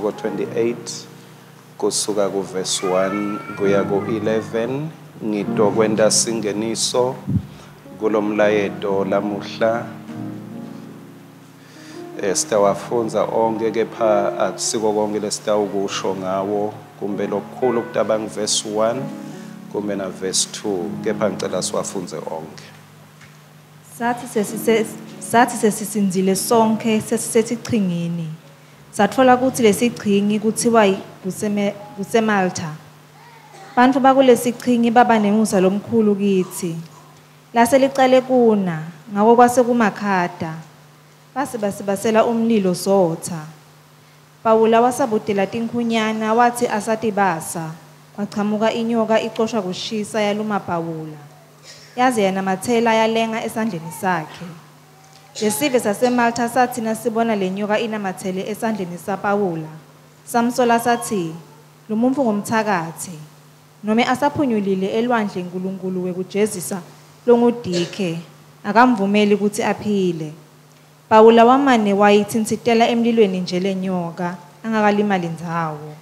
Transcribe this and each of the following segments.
28 kusuka kuverse 1 kuya ku-11. Ngitokwenta singeniso kulomlayeto lamuhla. Sitawafundza onke, kepha akusiko konke lesitawukusho ngawo, kumbe lokukhulu kutaba verse 1 kumbe na verse 2, kepha ngicela siwafundze onke. Sathi sesisindzile sonkhe sesisesichingini, satfola kutsi lesichingi kutsiwa kuseMaltha. Bantfu bakulesichingi baba nemusa lomkhulu kitsi. Lase licale kuna, ngako kwase kumakhata. Base basibasela umlilo sotha. Pawula wasabutela tinkhunyana, watsi asatibasa, kwachamuka inyoka icoshwa kushisa yaluma Pawula. Yaze yanamatsela yalenga esandleni sakhe. Lesive saseMaltha satsi nasibona lenyoka inamatsele esandleni saPawula, samsola satsi, "Lomuntfu ngumtsakatsi, nome asaphunyulile elwandle Nkulunkulu wekujezisa longuDike, akamvumeli kutsi aphile." Pawula wamane wayitsintsitela emlilweni nje lenyoka, angakalimali ndzawo.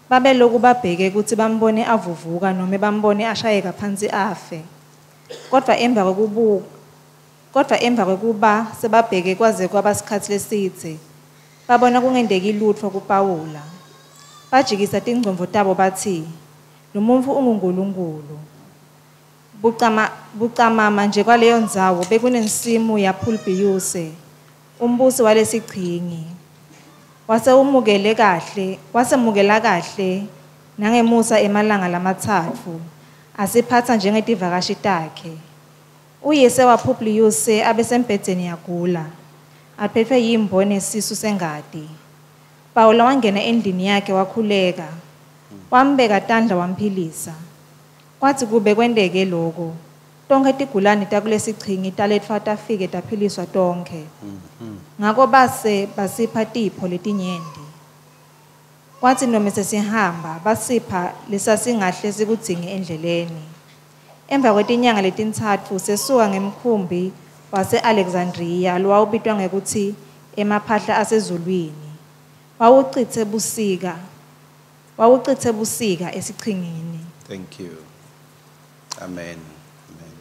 Babeloku babheke kutsi bambone avuvuka nome bambone ashayeka phansi afe. Kodvwa emva kwekuba sebabheke kwaze kwaba sikhatsi lesidze, babona kungenteki lutfo kuPawula. Bajikisa tingcondvo tabo batsi, "Lomuntfu ungunkulunkulu." Bucamama nje kwaleyo ndzawo bekunensimu yaPhulbiyuse, umbusi walesichingi. Wasemukela kahle nangemusa emalanga lamatsatfu, asiphatsa njengetivakashi takhe. Uyise waPhubliyuse abesembhedzeni yagula, aphetfwe yimbo nesisu sengati. Pawula wangena endlini yakhe wakhuleka, wambeka tandla wamphilisa. Kwatsi kube kwenteke loko, tonkhe tigulane takulesichingi taletfwa tafike taphiliswa tonkhe. Ngako base basipha tipho letinyenti. Kwatsi nome sesihamba, basipha lesasingahle sikudzinge endleleni. Emva kwetinyanga letintsatfu sesuka ngemkhumbi wase-Alexandriya lowawubitwa ngekutsi Emaphahla Asezulwini. Wawucitse busika esichingini. Thank you. Amen. Amen.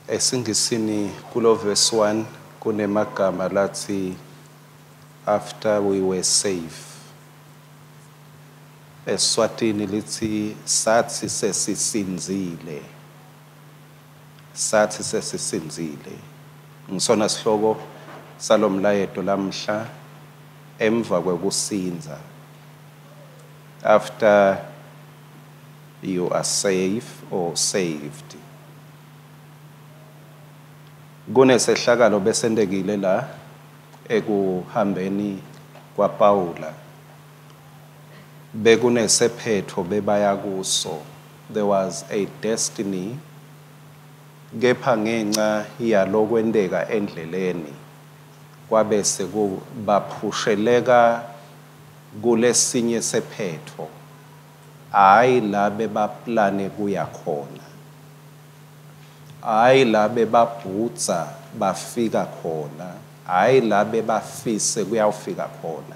Esingisini kulo verse 1 kunemagama latsi "after we were safe". Eswatini litsi "sathi sesisindzile". Sathi sesisindzile. Ngisona sihloko salomlayeto lamhla, emva kwekusindza. After you are safe or saved. Kunesehlakalo besentekile la ekuhambeni kwaPaula. Bekunesephetho bebaya kuso. There was a destiny, kepha ngenxa yalokwenteka endleleni kwabe sekubaphusheleka kulesinye sephetho, hayi la bebaplane kuya khona, hayi la bebabhudza bafika khona, hayi la bebafise kuyawufika khona,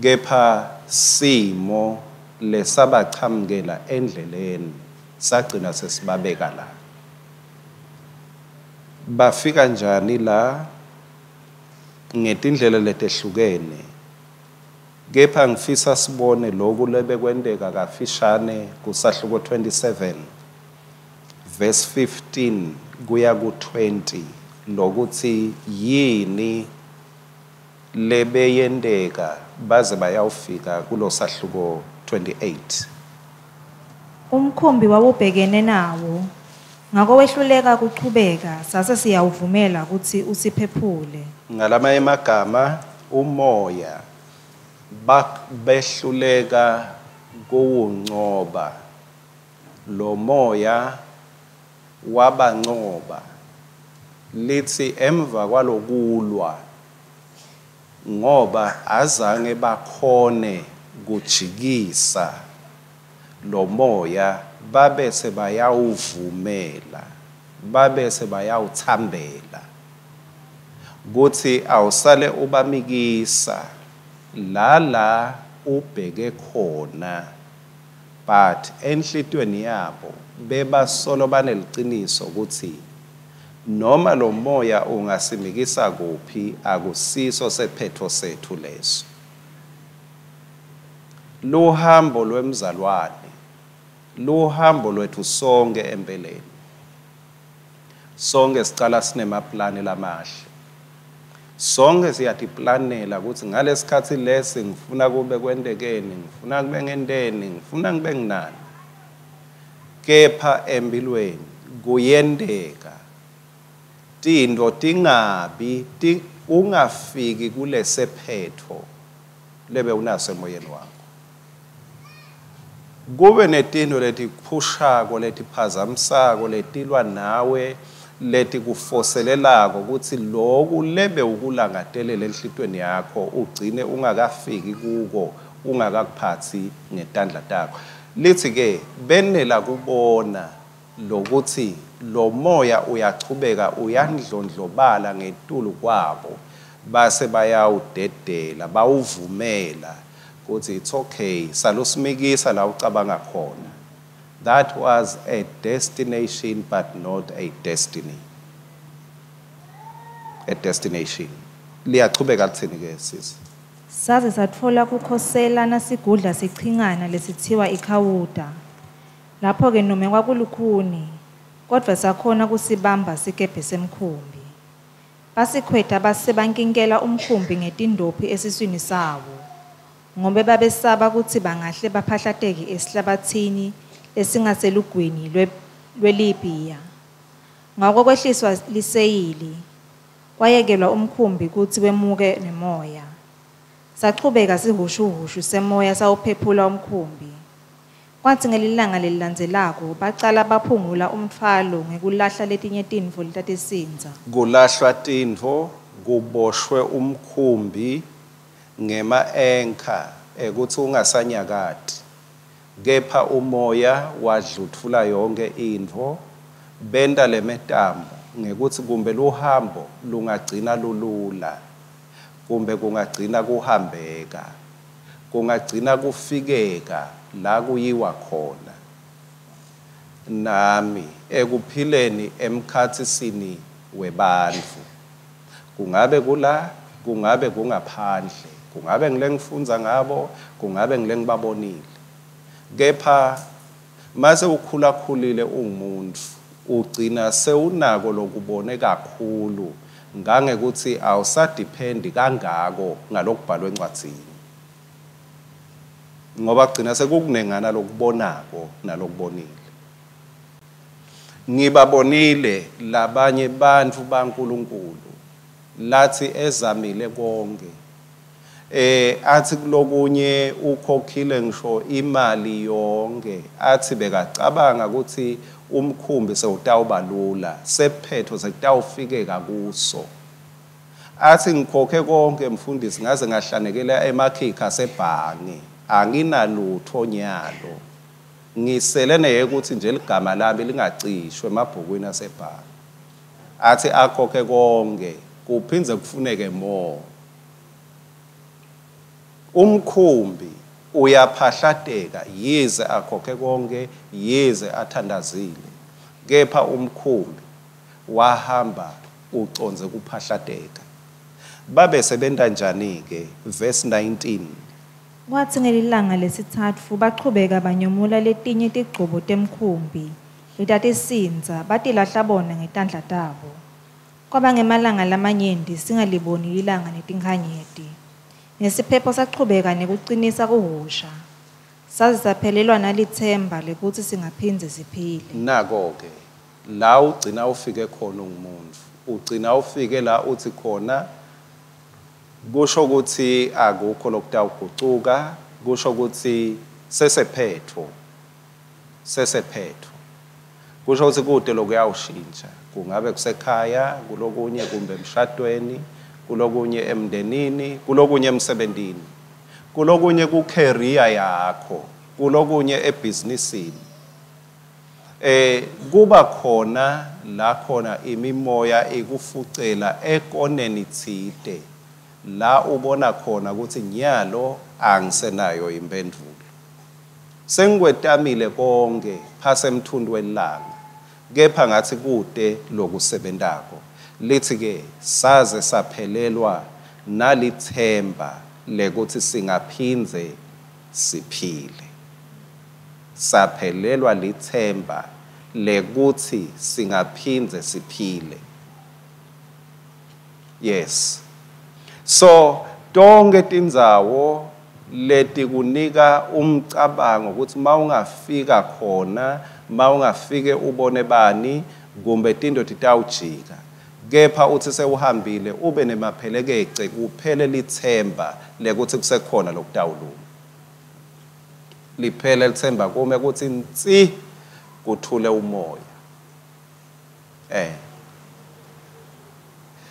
kepha simo lesabachamukela endleleni sagcina sesibabeka la. Bafika njani la? Ngetindlela letehlukene, kepha ngifisa sibone loku lebekwenteka kafishane kusahluko 27 verse 15 kuya ku-20, lokuthi yini lebeyenteka baze bayawufika kulosahluko 28. Umkhumbi wawubhekene nawo, ngako wehluleka kuchubeka, sase siyawuvumela kutsi usiphephule. Ngalamanye emagama, umoya behluleka kuwuncoba. Lo moya wabancoba. Lithi emva kwalokulwa, ngoba azange bakhone kujikisa lo moya, babese bayawuvumela, babese bayawuthambela. Kutsi awusale ubamikisa la ubheke khona, but enhlitiyweni yabo bebasolo baneliciniso kutsi noma lo moya ungasimikisa kuphi akusiso sephetho sethu leso. Luhambo lwemzalwane, luhambo lwethu sonke empeleni. Sonke sicala sinemaplani lamahle. Sonke siyatiplanela ukuthi ngalesikhatsi lesi ngifuna kube kwentekeni, ngifuna kube ngenteni, ngifuna kube nginani. Kepha empilweni kuyenteka tintfo tingabi, ungafiki kulesephetho lebe unaso emoyeni wakho. Kube netintfo letikuphushako, letiphazamisako, letilwa nawe, letikufoselelako kutsi loku lebe ukulangatelela enhlitiyweni yakho ugcine ungakafiki kuko, ungakakuphatsi ngetandla takho. Lithi ke benela kubona lokuthi lo moya uyachubeka uyandlondlobala ngetulu kwabo, base bayawudedela, bawuvumela kutsi it's okay, salusimikisa la ucabanga khona. That was a destination but not a destiny. A destination. Liyachubeka lithini ke sisi? Saze satfola kukhosela nasigudla sichingana lesithiwa iKhawuda. Lapho-ke nome kwakulukhuni, kodvwa sakhona kusibamba sikebhe semkhumbi. Basikhweta base bankinkela umkhumbi ngetindophi esiswini sawo, ngobe babesaba kutsi bangahle baphahlateke esihlabatsini lesingaselugwini lweLibhiya. Ngako kwehliswa liseyili, kwayekelwa umkhumbi kutsi wemuke nemoya. Sachubeka sihhushuhhushu semoya sawuphephula umkhumbi. Kwatsi ngelilanga lelilandzelako bacala baphungula umtfwalo ngekulahla letinye tintfo letatisindza. Kulahlwa tintfo, kuboshwe umkhumbi ngema-anchor ekutsi ungasanyakati, kepha umoya wadlutfula yonke intfo. Benta lemetamo ngekutsi kumbe luhambo lungagcina lulula, kumbe kungagcina kuhambeka, kungagcina kufikeka la kuyiwa khona. Nami ekuphileni emkhatsisini webantfu, kungabe kula, kungabe kungaphandle, kungabe ngile ngifundza ngabo, kungabe ngile ngibabonile, kepha mase ukhulakhulile ungumuntu ugcina sewunako lokubone kakhulu ngangekuthi awusadephendi kangako ngalokubhalwe encwadzini, ngoba kugcina sekukunengana lokubonako nalokubonile. Ngibabonile labanye bantfu baNkulunkulu lathi ezamile konke, athi kulokunye ukhokhile ngisho imali yonke, athi bekacabanga ukuthi umkhumbi sewutawubalula, sephetho sekutawufikeka kuso. Athi ngikhokhe konke mfundisi, ngaze ngahlanekela emakhikha asebhange, anginalutho nyalo, ngisele neye ukuthi nje ligama lami lingacishwe emabhukwini asebhange. Athi akhokhe konke, kuphindze kufuneke more. Umkhumbi uyaphahlateka, yize akhokhe konke, yize athandazile, kepha umkhumbi wahamba ucondze kuphahlateka. Babe sebenta njani ke? Verse 19. Kwatsi ngelilanga lesitsatfu bachubeka banyomula letinye tigcobo temkhumbi letatisindza, batilahla bona ngetandla tabo. Kwaba ngemalanga lamanyenti singaliboni lilanga netinkhanyeti. Nesiphepho sachubeka nekucinisa kuhhusha, saze saphelelwa nalitsemba lekutsi singaphindze siphile. Nako-ke la ugcina ufike khona ungumuntu, ugcina ufike la uthi khona kusho ukuthi akukho lokutawugucuka, kusho ukuthi sesephetho, sesephetho, kusho ukuthi kude lokuyawushintsha, kungabe kusekhaya, kulokunye kumbe emshadweni, kulokunye emndenini, kulokunye emsebentini, kulokunye ku-career yakho, kulokunye ebhizinisini. Kuba khona la khona imimoya ikufucela ekoneni tsite la ubona khona ukuthi nyalo angisenayo impendulo. Sengikwetamile konke phase emthundu welanga, kepha ngathi kude lokusebentako. Lithi ke saze saphelelwa nalithemba lekuthi singaphindze siphile. Saphelelwa lithemba lekuthi singaphindze siphile. Yes. So tonke tindzawo letikunika umcabango ukuthi mawungafika khona, mawungafike ubone bani, kumbe tinto titawujika, kepha uthi sewuhambile ube nemaphelekece, kuphele lithemba lekuthi kusekhona lokutawulunga. Liphele lithemba kume kuthi nsi kuthule umoya.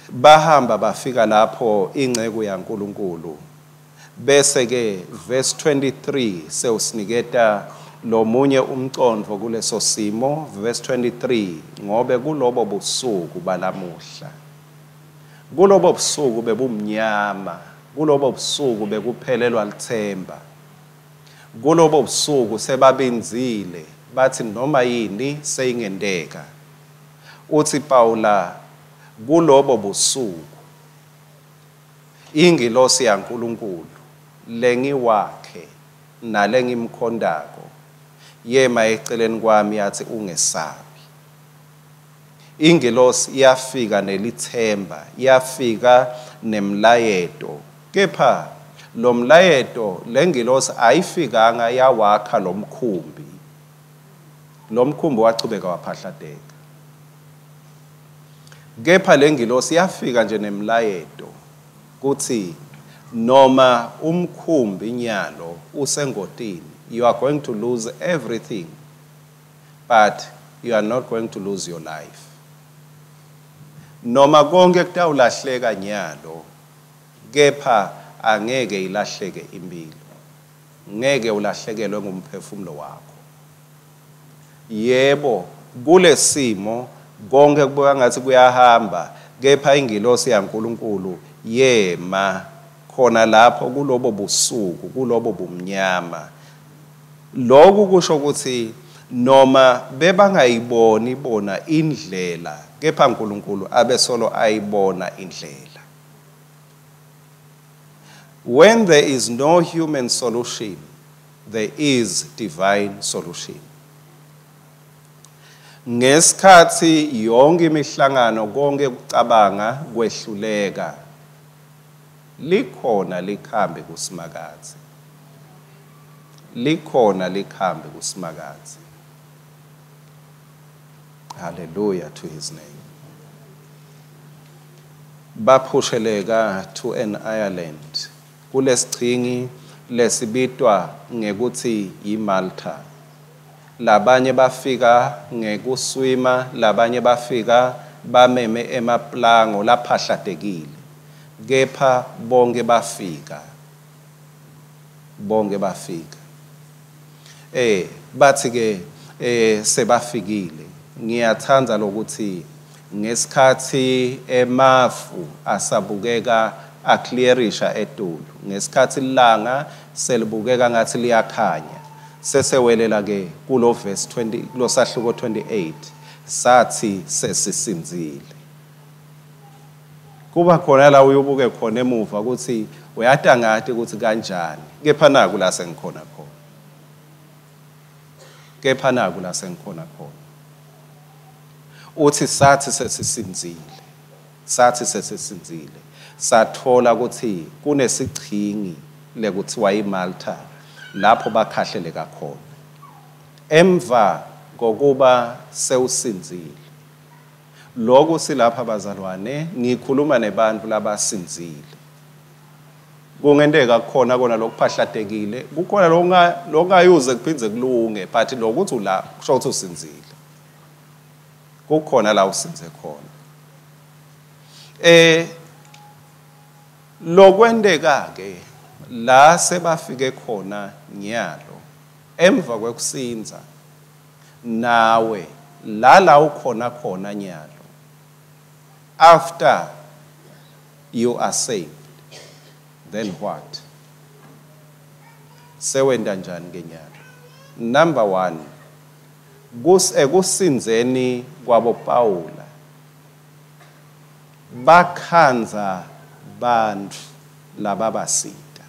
Bahamba bafika lapho inceku yaNkulunkulu. Bese ke verse 23 sewusiniketa lomunye umcondvo kuleso simo. Verse 23, ngobe kulobo busuku balamuhla, kulobo busuku bebumnyama, kulobo busuku bekuphelelwa lithemba, kulobo busuku sebabinzile bathi noma yini seyingenteka. Uthi Paula, kulobo busuku ingilosi yaNkulunkulu lengiwakhe nalengimkhondako yema eceleni kwami yathi ungesabi. Ingilosi yafika nelithemba, yafika nemlayeto, kepha lo mlayeto lengilosi ayifikanga yawakha lomkhumbi. Lomkhumbi wachubeka waphahlateka. Kepha lengilosi yafika nje nemlayeto kuthi noma umkhumbi nyalo usengotini, you are going to lose everything, but you are not going to lose your life. Noma konke kutawulahleka nyalo, kepha angeke ilahleke impilo, ngeke ulahlekelwe ngumphefumulo wakho. Yebo, kulesimo konke kubuka ngathi kuyahamba, kepha ingilosi yaNkulunkulu yema khona lapho kulobo busuku, kulobo bumnyama. Lokhu kusho ukuthi noma bebangayiboni bona indlela, kepha uNkulunkulu abesolo ayibona indlela. When there is no human solution, there is divine solution. Ngesikhathi yonke imihlangano, konke kucabanga kwehluleka, likhona likhambi kuSimakadze. Likhona likhambi kuSimakadze. Hallelujah to his name. Baphusheleka to an island kulesichingi lesibitwa ngekuthi yiMalta. Labanye bafika ngekuswima, labanye bafika bameme emaplango laphahlatekile, kepha bonke bafika. Bonke bafika. Bathi ke sebafikile. Ngiyathanda lokuthi ngesikhathi emafu asabukeka aclearisha etulu, ngesikhathi ilanga selibukeka ngathi liyakhanya, sesewelela ke kulo verse 20, kulo sahluko 28, sathi sesisinzile. Kuba khona la uyobuke khona emuva ukuthi uyatangati ukuthi kanjani, kepha naku la sengikhona khona, kepha naku la sengikhona khona. Uthi sathi sesisinzile, sathi sesisinzile, sathola ukuthi kunesichingi lekuthiwa iMalta lapho bakhahleleka khona. Emva kokuba sewusinzile, lokhu silapha bazalwane, ngikhuluma nebantu labasinzile. Kungenteka kukhona kona lokuphahlatekile, kukhona lokungayuze kuphindze kulunge, but lokuthi ula kusho ukuthi usinzile. Kukhona la usinze khona. Lokwenteka ke la sebafike khona nyalo emva kwekusinza, nawe la ukhona khona nyalo, after you are saved, then what? Sewenta njani ke nyalo? Number 1, ekusindzeni kwabo Pawula bakhandza bantfu lababasita.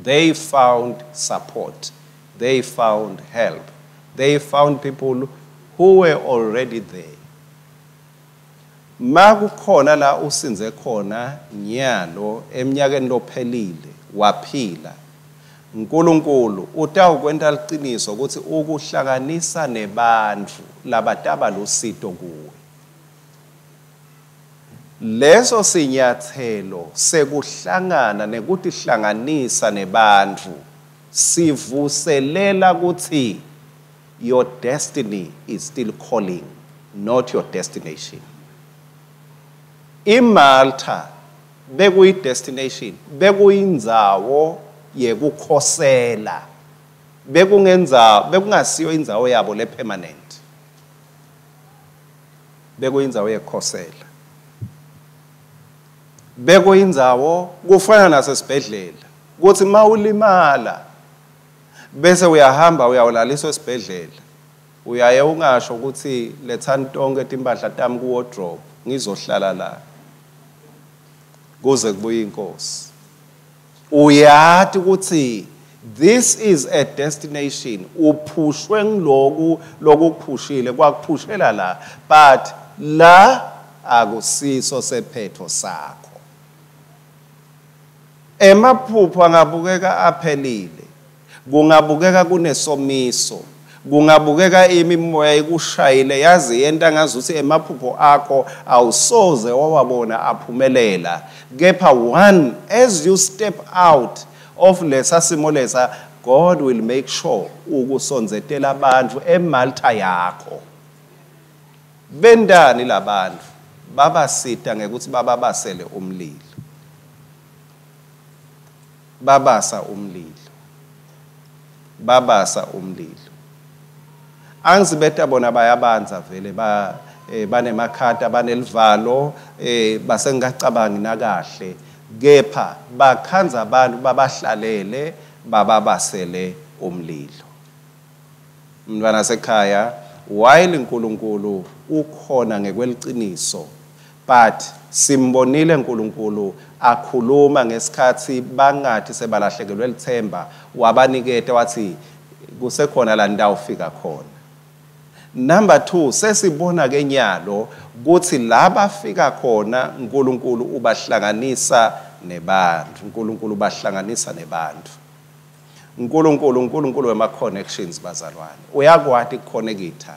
They found support, they found help, they found people who were already there. Makukhona la usindze khona nyalo eminyakeni lophelile waphila, uNkulunkulu utawukwenta liciniso ukuthi ukuhlanganisa nebantfu labataba lusito kuwe. Leso sinyathelo sekuhlangana nekutihlanganisa nebantfu sivuselela ukuthi your destiny is still calling, not your destination. IMalta bekuyi destination, bekuyindzawo yekukhosela, bekungasiyo indzawo yabo le permanent, bekuyindzawo yekukhosela, bekuyindzawo kufana nasesibhedlela kuthi mawulimala bese uyahamba uyawulaliswa esibhedlela, uyaye ungasho ukuthi lethani tonke timpahla tami ku wardrobe ngizohlala la kuze kubuye inkosi. Uyati ukuthi this is a destination, uphushwe ngiloku lokuphushile kwakuphushela la, but la akusiso sephetho sakho. Emaphupho angabukeka aphelile, kungabukeka kunesomiso, kungabukeka imimoya ikushayile yazi yenta ngazuthi emaphupho akho awusoze wawabona aphumelela. Kepha one, as you step out of lesa simo lesa, God will make sure ukusonzetela abantu eMalta yakho. Bendani labantu babasita ngekuthi bababasele umlilo, babasa umlilo, babasa umlilo. Angizibeta bona bayabanza vele banemakhata banelivalo, basengacabangi nakahle, kepha bakhandza abantu babahlalele bababasele umlilo. Mntwana sekhaya, while uNkulunkulu ukhona ngekweliciniso, but simbonile uNkulunkulu akhuluma ngesikhathi bangathi sebalahlekelwe lithemba, wabaniketa wathi kusekhona la ndawufika khona. Number 2, sesibona ke nyalo kuthi la bafika khona uNkulunkulu ubahlanganisa nebantu, uNkulunkulu ubahlanganisa nebantu. uNkulunkulu wema connections bazalwane, uyakwati kuconnecta.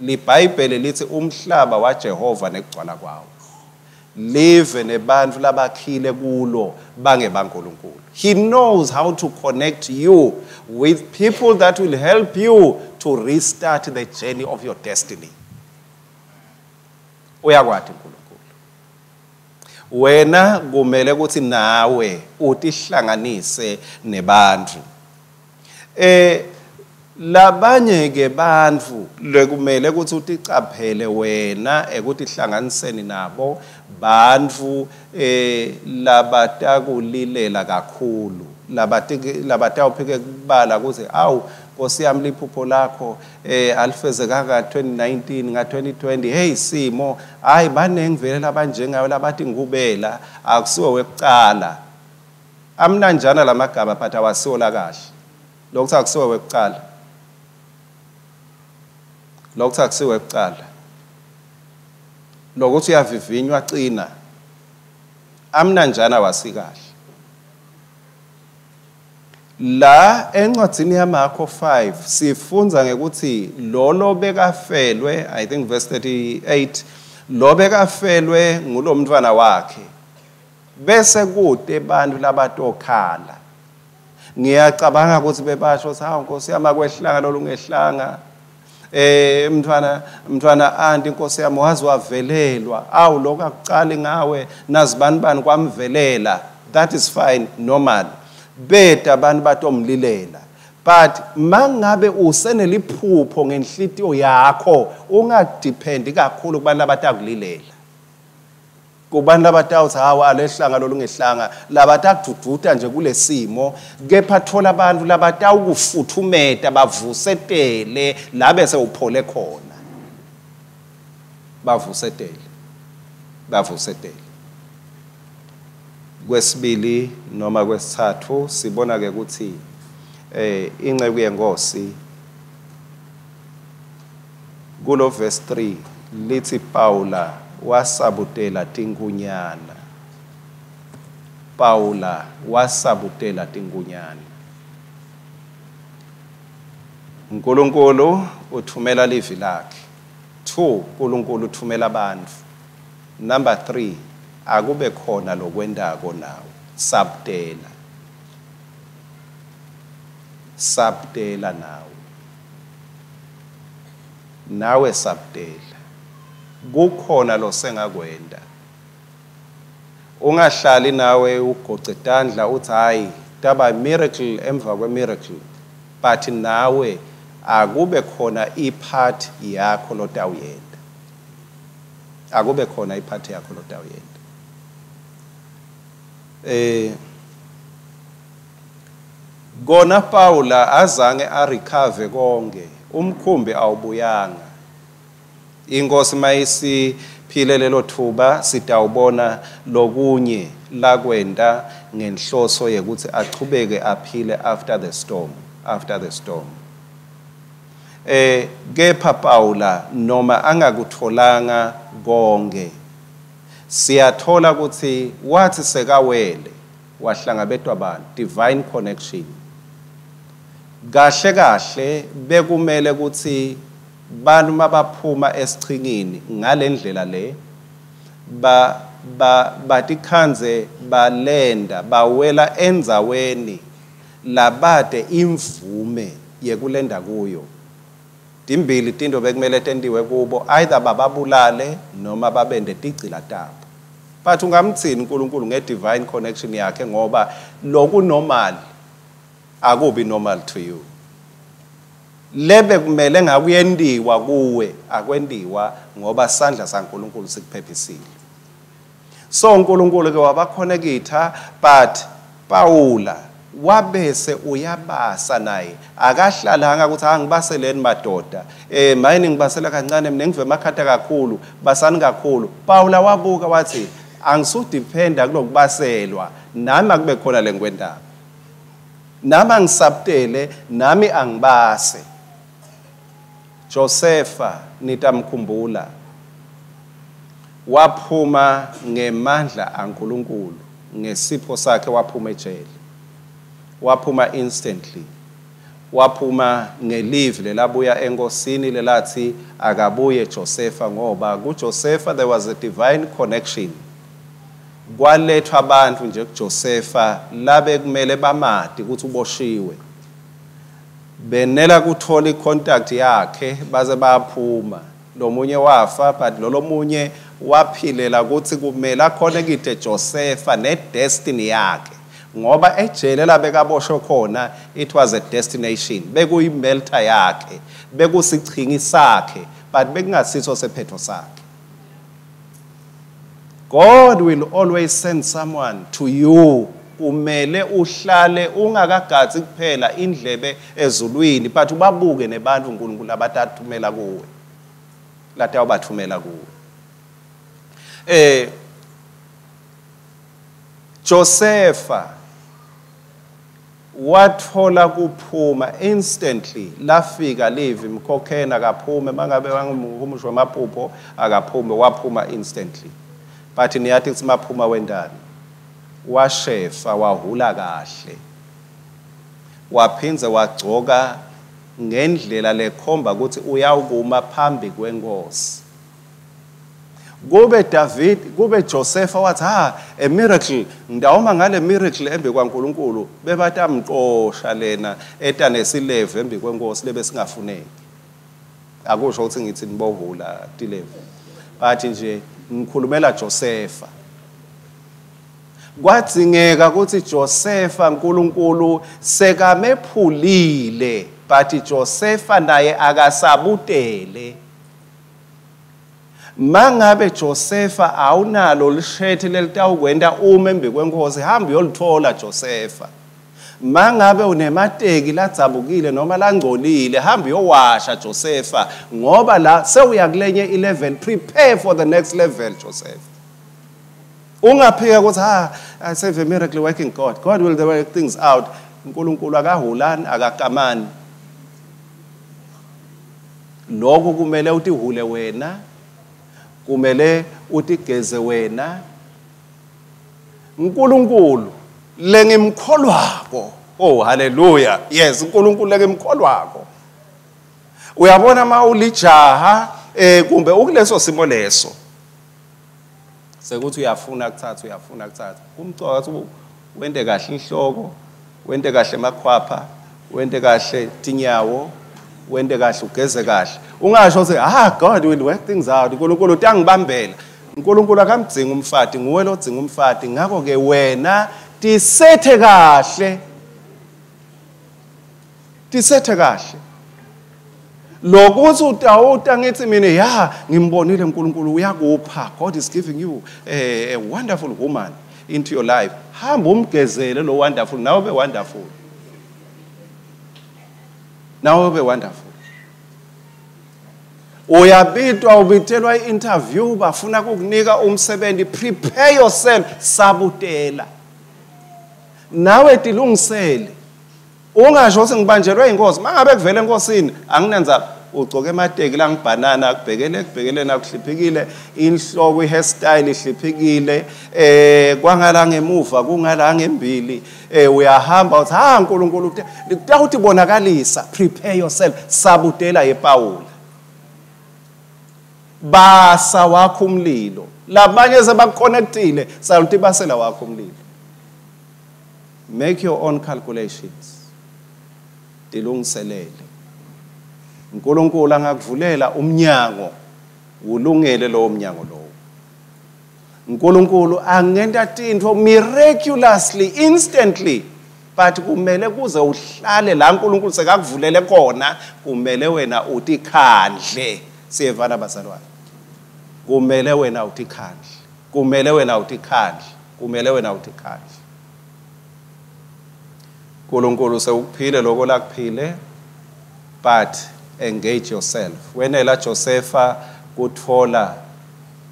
LiBhayibheli lithi umhlaba waJehova nekugcwala kwawo, live nebantu labakhile kulo bangebaNkulunkulu. He knows how to connect you with people that will help you to restart the journey of your destiny. Uyakwati uNkulunkulu. Wena kumele ukuthi nawe utihlanganise nebantu. Labanye ke bantfu lekumele ukuthi uticaphele wena ekutihlanganiseni nabo, bantfu labatakulilela kakhulu, labatawuphike kubala ukuthi awu Nkosi yami liphupho lakho alifezekanga 2019 nga 2020, hey simo hayi banengi vele labanjengayo labathi ngubela akusiwe wekucala. Amnanjana lamagama but awasiwo la kahle. Lokho akusiwe wekucala, lokho akusiwe wekucala, lokuthi uyavivinywa qina amnanjana wasikahle. La encwadzini yaMarko 5 sifunza ngekuthi lolo bekafelwe, I think verse 38, lo bekafelwe ngulomntwana wakhe bese kude abantu labatokhala. Ngiyacabanga ukuthi bebasho ukuthi hawu Nkosi yami akwehlanga lolungehlanga, mntwana anti Nkosi yami waze wavelelwa, awu lokho akucali ngawe nazibani bani kwamvelela, that is fine, normal. Beda abantu batomlilela, But mangabe useneliphupho ngenhlitiyo yakho, ungadependi kakhulu kubantu abatakulilela, kubantu labatawuthi hawa alehlanga lolungehlanga, labatakudududa nje kulesimo, kepha thola abantu labatawukufuthumeta bavusetele la bese uphole khona. Bavusetele, bavusetele. Kwesibili noma kwesithathu sibona ke ukuthi inceku yenkosi kulo verse 3 lithi Paula wasabutela tinkunyana. Paula wasabutela tinkunyana. uNkulunkulu uthumela livi lakhe. 2, uNkulunkulu uthumela abantu. Number 3, akube khona lokwendako nawe. Sabutela. Sabutela nawe. Nawe sabutela. Kukhona losengakwenda. Ungahlali nawe ugoce tandla uthi hayi taba miracle emva kwe miracle, but nawe akube khona ipart yakho lotawuyenda. Akube khona ipart yakho lotawuyenda. Kona Paula azange arecover konke, umkhumbi awubuyanga. Inkosi mayisiphile lelo thuba sitawubona lokunye lakwenda ngenhloso yekuthi achubeke aphile after the storm, after the storm. Kepha Paula noma angakutholanga konke, siyathola ukuthi wathi sekawele wahlangabetwa abantu, divine connection. Kahle kahle bekumele ukuthi bantu mabaphuma esichingini ngalendlela le ba batikhanze balenda bawela endzaweni labade imvume yekulenda kuyo. Timbili tinto bekumele tentiwe kubo, either bababulale noma babende tigcila tabo. But ungamthini uNkulunkulu nge-divine connection yakhe, ngoba loku normal akubi normal to you. Lebe kumele ngakuyendiwa kuwe akwendiwa, ngoba sandla saNkulunkulu sikuphephisile. So uNkulunkulu ke wabakhonekitha, but Paula wabese uyabasa naye. Akahlalanga ukuthi angibaseleni madoda, mayini ngibasela kancane mina ngive emakhata kakhulu, basani kakhulu. Paula wabuka wathi angisudependa kulokubaselwa, nami akube khona lengikwendako, nami angisabutele, nami angibase. Josefa nitamkhumbula, waphuma ngemandla aNkulunkulu, ngesipho sakhe waphuma ejele, waphuma instantly, waphuma ngelivi lelabuya enkosini lelathi akabuye Josefa, ngoba kuJosefa there was a divine connection. Kwalethwa abantu nje kuJosefa labe kumele bamati ukuthi uboshiwe, benela kuthola icontact yakhe baze baphuma. Lomunye wafa, but lolomunye waphilela ukuthi kumele akhonekite Josefa nedestiny yakhe, ngoba ejele labekaboshwe khona it was a destination, bekuyimelter yakhe, bekusichingi sakhe, but bekungasiso sephetho sakhe. God will always send someone to you. Kumele uhlale ungakagadzi kuphela indlebe ezulwini, but ubabuke nebantu uNkulunkulu abatathumela kuwe, latawubathumela kuwe. Josefa wathola kuphuma instantly, lafika livi mkhokhena akaphume, mangabe wangumhumusho wemaphupho akaphume, waphuma instantly. But niyathi kuthi maphuma wendani, washefa wahula kahle, waphindze wagcoka ngendlela lekhomba ukuthi uyawukuma phambi kwenkosi. Kube David, kube Josefa wathi ha a miracle, ngidawoma ngale miracle embi kwaNkulunkulu, bebatamqosha lena eta nesilevu embi kwenkosi lebe singafuneki. Akusho ukuthi ngithi nibohula tilevu, but nje ngikhulumela Josefa. Kwadzingeka ukuthi Josefa uNkulunkulu sekamephulile, but Josefa naye akasabutele. Mangabe Josefa awunalo lishethi lelitawukwenta uma embi kwenkosi, hamba uyolithola Josefa. Mangabe unemateki ladzabukile noma langcolile, hamba uyowasha Josefa, ngoba la sewuya kulenye i-level. Prepare for the next level, Joseph. Ungaphika ukuthi I serve a miracle working God, God will work things out. uNkulunkulu akahulani, akakamani. Lokho kumele utihule wena, kumele utigeze wena. uNkulunkulu lengimkholwako, oh hallelujah, yes, uNkulunkulu lengimkholwako. Uyabona ma ulijaha kumbe ukuleso simo leso sekuthi uyafuna kuthatha, uyafuna kuthatha, kumcoka ukuthi wente kahle inhloko, wente kahle emakhwapha, wente kahle tinyawo, wente kahle, ugeze kahle. Ungasho ukuthi God will work things out, uNkulunkulu utangibambela. uNkulunkulu akamdzingi umfati, nguwe lodzinga umfati. Ngakho ke wena tisethe kahle, tisethe kahle. Lokuthi utawuta ngithi mina ya ngimbonile uNkulunkulu uyakupha, God is giving you a wonderful woman into your life. Hamba umgezele lo wonderful, nawe be wonderful, nawe be wonderful. Uyabitwa, ubitelwa i-interview, bafuna kukunika umsebenzi, prepare yourself, sabutela. Nawe tilungisele. Ungasho ukuthi ngibanjelwe inkosi, mangabe kuvela enkosini anginandzaba. Ugcoke emateki la ngibhanana, akubhekele kubhekele nakuhliphikile, inhloko i-hairstyle ihliphikile, kwangala ngemuva kungala ngembili, uyahamba uthi uNkulunkulu kutawuthi bonakalisa. Prepare yourself, sabutela yePawula. Basa wakho umlilo, labanye sebaconnectile, saluti basela wakho umlilo. Make your own calculations. Tilungiselele. uNkulunkulu angakuvulela umnyango, ulungele lowo mnyango lowo. uNkulunkulu angenta tintfo miraculously, instantly, but kumele kuze uhlale la uNkulunkulu sekakuvulele khona, kumele wena utikhandle. Siyevana bazalwane? Kumele wena utikhandle, kumele wena utikhandle, kumele wena utikhandle. uNkulunkulu sewukuphile lokho lakuphile, but engage yourself. Wenela Josefa kuthola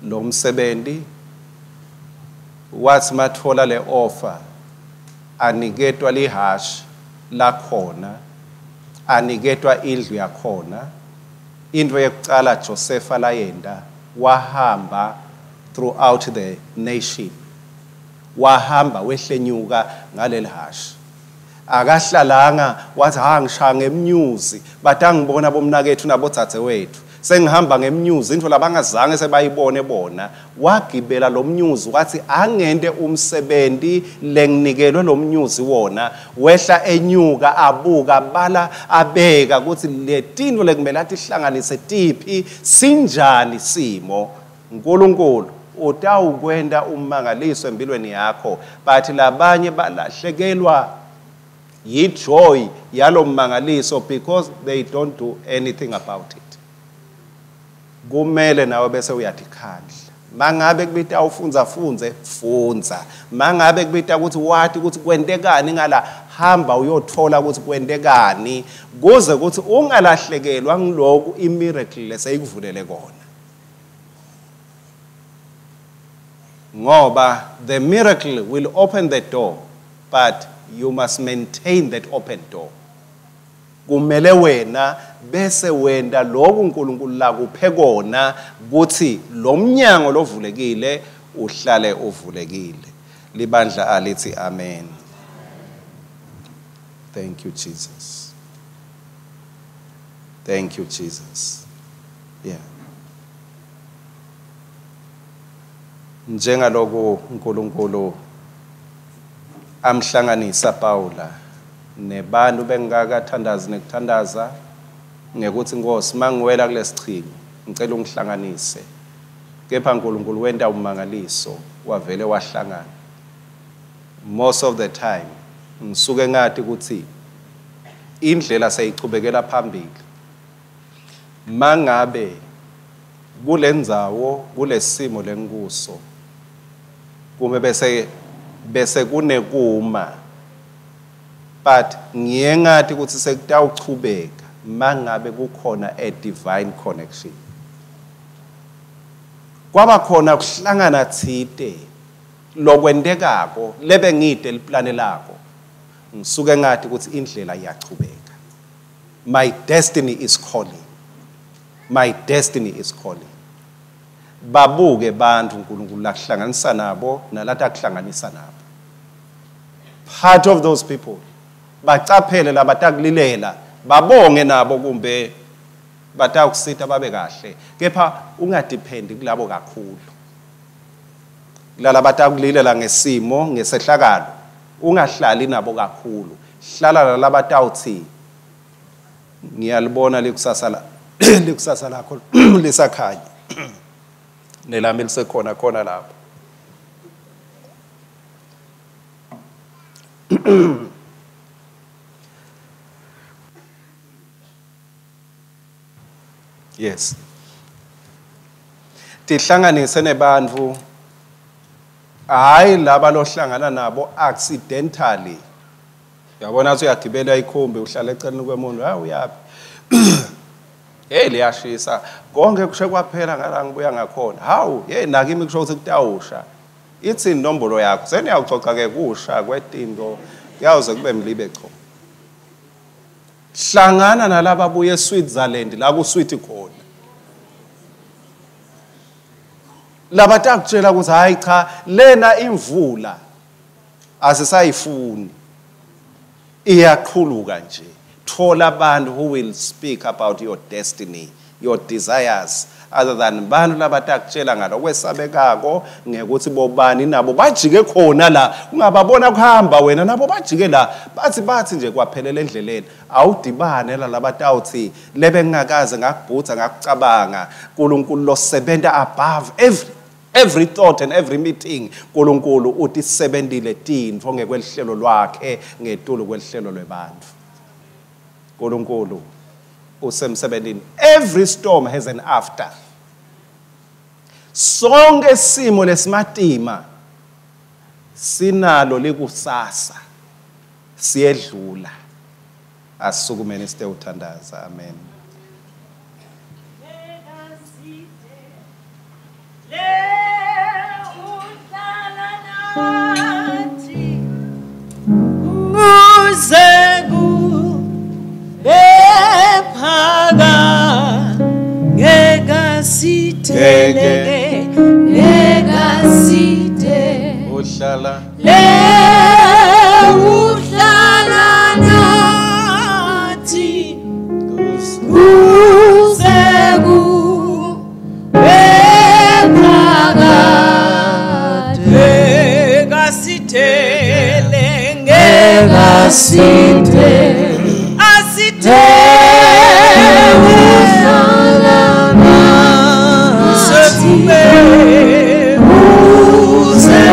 lo msebenzi, wathi mathola le offer, aniketwa lihashi lakhona, aniketwa indlu yakhona. Into yekucala Josefa layenda, wahamba throughout the nation, wahamba wehlenyuka ngaleli hashi. Akahlalanga wathi ngishaya ngemnyuzi, batangibona bomnakethu nabodzadzewethu, sengihamba ngemnyuzi, into labangazange sebayibone bona. Wagibela lo mnyuzi, wathi angente umsebenzi lenginikelwe lo mnyuzi wona. Wehla enyuka, abuka, bala, abeka ukuthi letinto lekumele atihlanganise tiphi, sinjani simo. uNkulunkulu utawukwenta umangaliso empilweni yakho, but labanye balahlekelwa yijoy yalo mmangaliso because they don't do anything about it. Kumele nawe bese uyatikhandla. Mangabe kubita ufunza funze, funza. Mangabe kubita ukuthi wathi ukuthi kwentekani ngala, hamba uyothola ukuthi kwentekani, kuze ukuthi ungalahlekelwa ngiloku imiracle leseyikuvulele kona. Ngoba the miracle will open the door, but you must maintain that open door. Kumele wena bese wenda lokhu uNkulunkulu lakuphe kona, kuthi lo mnyango lovulekile uhlale uvulekile. Libandla alithi amen. Thank you Jesus. Thank you Jesus. Yeah. Njengaloku uNkulunkulu amhlanganisa Paula nebantu bengakathandazi nekuthandaza ngekuthi Nkosi mangiwela kulesichingi ngicela ungihlanganise, kepha uNkulunkulu wenta umangaliso wavele wahlangana. Most of the time ngisuke ngathi ukuthi indlela seyichubekela phambili. Mangabe kulendzawo kulesimo lenkuso kume bese kunekuma, but ngiye ngathi ukuthi sekutawuchubeka mangabe kukhona a divine connection. Kwaba khona kuhlangana thite lokwentekako lebe ngide liplane lakho, ngisuke ngathi ukuthi indlela iyachubeka. My destiny is calling. My destiny is calling. Babuke bantu uNkulunkulu lakuhlanganisa nabo nalata kuhlanganisa nabo. Part of those people bacaphele labatakulilela, babonge nabo kumbe batakusita babe kahle, kepha ungadependi kulabo kakhulu. Kulala batakulilela ngesimo ngesehlakalo, ungahlali nabo kakhulu. Hlala nalabatawuthi ngiyalibona likusasa la likusasa lakho lisakhanya nelami lisekhona khona lapho. Yes. Tihlanganise nebantu, hayi laba lohlangana nabo accidentally. Uyabona ukuthi uyagibela ikhumbi uhlala eceleni kwemuntu, hayi uyapi? Hey liyashisa. Konke kushe kwaphela ngala ngibuya ngakhona. Hawu, hey nakimi kusho ukuthi kutawusha. Ithi inombolo yakho. Seniyawucoca ke kusha kwetinto kuyawuze kube mlibe cho. Hlangana nalaba buye eSwitzerland la kuswiti khona. Labatakutshela ukuthi hayi cha lena imvula asisayifuni, iyaqhuluka nje. Thola abantu who will speak about your destiny, your desires, other than bantu labatakutshela ngalokwesabekako ngekuthi bobani nabo bajike khona la, ungababona kuhamba wena nabo bajike la, bathi nje kwaphelela endleleni. Awudibane la labatawuthi lebe ngingakaze ngakubhutha ngakucabanga. uNkulunkulu losebenta above every thought and every meeting. uNkulunkulu utisebentile tintfo ngekwelihlelo lwakhe ngetulu kwelihlelo lwebantfu. uNkulunkulu usemsebentini. Every storm has an after. Sonke simo lesimatima sinalo likusasa, siyedlula. Asukumeni site uthandaza. Amen. Uhlala le uhlala nathi kuze kube phakade, kasithele ngekasithele asithele uhlala nathi kube kuze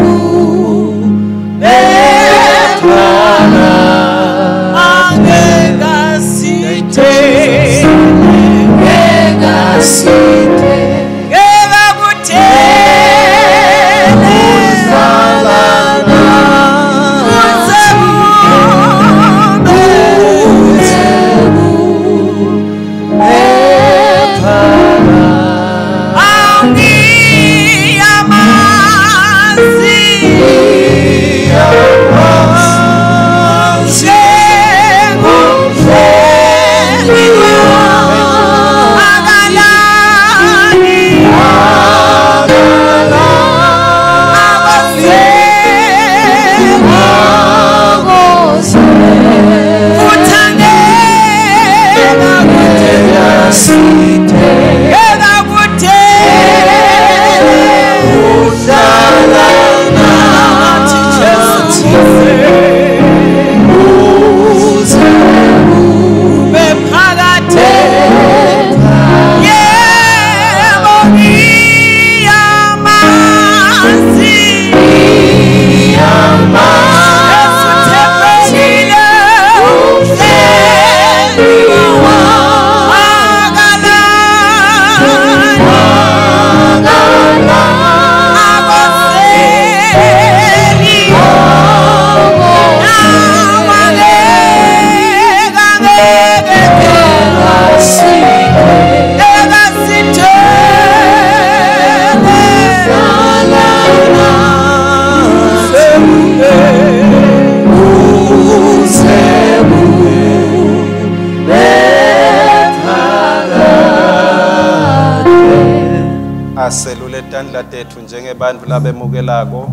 kube phakade, ngekasithele ngekasithele ngekakuthele uhlala nathi tandla tetfu njengebantfu labemukelako.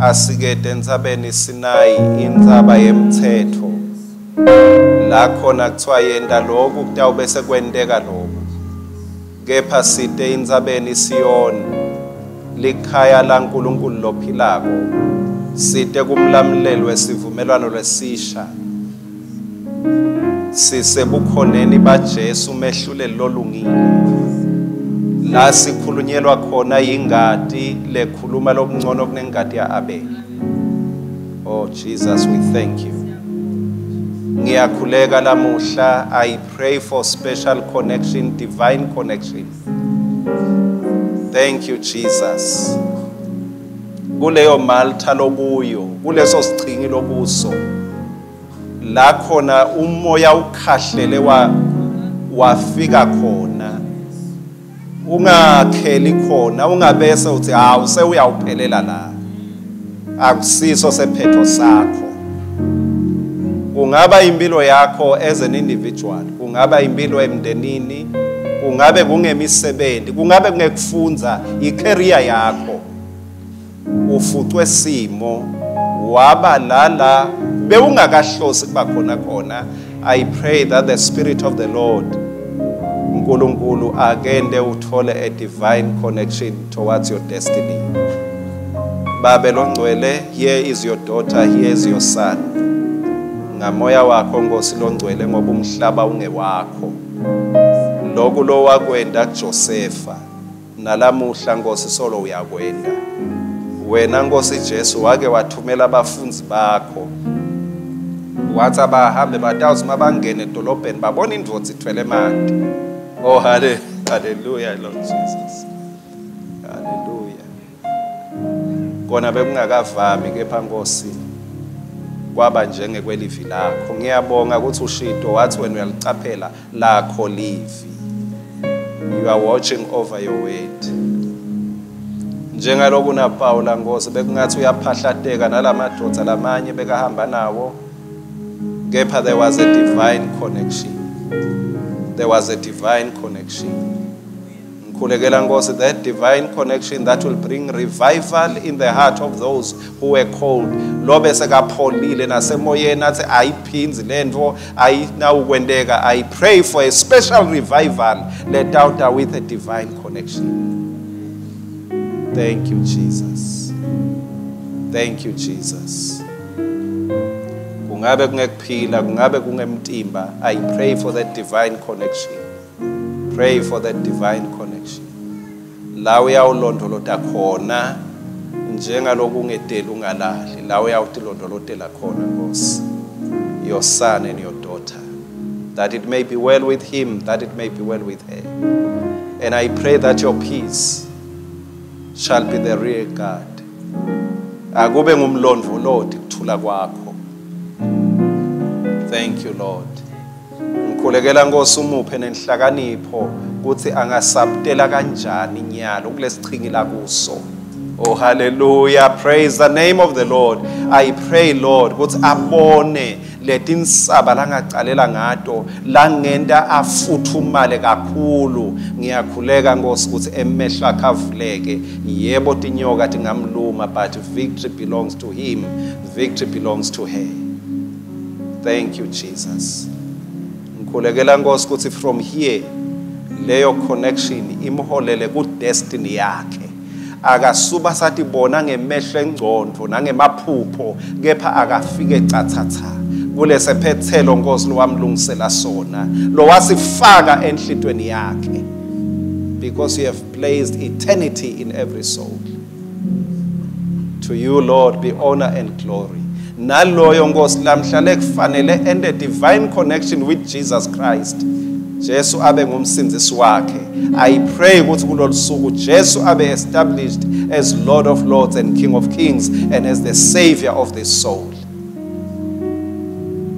Asikete entsabeni Sinayi, intsaba yemtsetfo. La khona kuthiwa yenta lokhu kutawube sekwenteka lokhu. Kepha site entsabeni Siyoni, likhaya laNkulunkulu lophilako. Site kumlamuleli wesivumelwano lesisha. Sisebukhoneni baJesu umehluleli lolungile. La sikhulunyelwa khona ingati lekhuluma lokungcono kunengati ya-Abel. Oh Jesus, we thank you. Ngiyakhuleka lamuhla, I pray for special connection, divine connection. Thank you Jesus. Kuleyo Malta lokuyo, kuleso sichingi lokuso, la khona umoya ukhahlele wafika khona. Ungakheli khona, ungabese uthi hawu sewuyawuphelela la. Akusiso sephetho sakho. Kungaba impilo yakho as an individual, kungaba impilo emndenini, kungabe kungemisebenzi, kungabe kungekufundza icareer yakho. Ufucwe simo waba lala bewungakahlosi kuba khona khona. I pray that the Spirit of the Lord uNkulunkulu akende uthole a divine connection towards your destiny. Babe longcwele, here is your daughter, here is your son. Ngamoya wakho Nkosi longcwele, ngoba umhlaba ungewakho. Lokhu lo wakwenda kuJosefa, nalamuhla Nkosi solo uyakwenda. Wena Nkosi Jesu wake wathumela abafundi bakho, wathi abahambe batawuthi mabangene edolobheni babona indvodza ithwele emanti. Oh hallelujah Lord Jesus. Hallelujah. Kona bekungakavami kepha Nkosi kwaba njengekwelivi lakho. Ngiyabonga ukuthi ushito wathi wena uyalicaphela lakho livi. You are watching over your word. Njengaloku naPawula Nkosi bekungathi uyaphahlateka nalamadvodza lamanye bekahamba nawo, kepha there was a divine connection. There was a divine connection. Ngikhulekela Nkosi, that divine connection that will bring revival in the heart of those who were cold. Lobe sekapholile nasemoyeni athi ayiphindzi lento ayinawukwenteka. I pray for a special revival let out with a divine connection. Thank you Jesus. Thank you Jesus. Kungabe kungekuphila, kungabe kungemtimba. I pray for that divine connection. Pray for that divine connection. La uyawulondolota khona njengaloku ungedeli ungalahli, la uyawutilondolotela khona Nkosi. Your son and your daughter, that it may be well with him, that it may be well with her. And I pray that your peace shall be the rear guard. Akube ngumlondvoloti kuthula kwakho. Thank you Lord. Ngikhulekela Nkosi umuphe nenhlakanipho ukuthi angasabutela kanjani inyalo kulesichingi la kuso. Oh hallelujah, praise the name of the Lord. I pray Lord ukuthi abone letinsaba langacalela ngato langenta afuthumale kakhulu. Ngiyakhuleka Nkosi ukuthi emehlo akhe avuleke. Yebo tinyoka tingamluma, but victory belongs to him, victory belongs to her. Thank you Jesus. Ngikhulekela Nkosi ukuthi from here leyo connection imholele ku destiny yakhe. Akasuba satibona ngemehlo engcondvo nangemaphupho, kepha akafike cathatha kulesephethelo Nkosi lowamlungisela sona, lowasifaka enhlitweni yakhe. Because you have placed eternity in every soul. To you Lord be honor and glory. Naloyo Nkosi lamhla lekufanele ente divine connection with Jesus Christ. Jesu abe ngumsindzisi wakhe. I pray ukuthi kulolu suku Jesu abe established as Lord of Lords and King of Kings and as the Savior of the soul.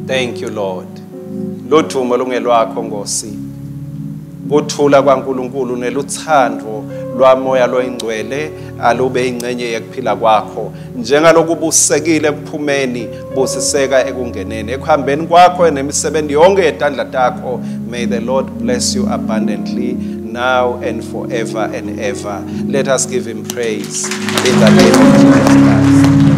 Thank you Lord. Ludumo lungelwakho Nkosi. Kuthula kwaNkulunkulu neluthando lwamoya loyingcwele alube ingcenye yekuphila kwakho. Njengaloku busekile ekuphumeni, busiseka ekungeneni. Ekuhambeni kwakho nemisebenzi yonke yetandla takho, may the Lord bless you abundantly. now and forever and ever. Let us give him praise in the name of Jesus Christ.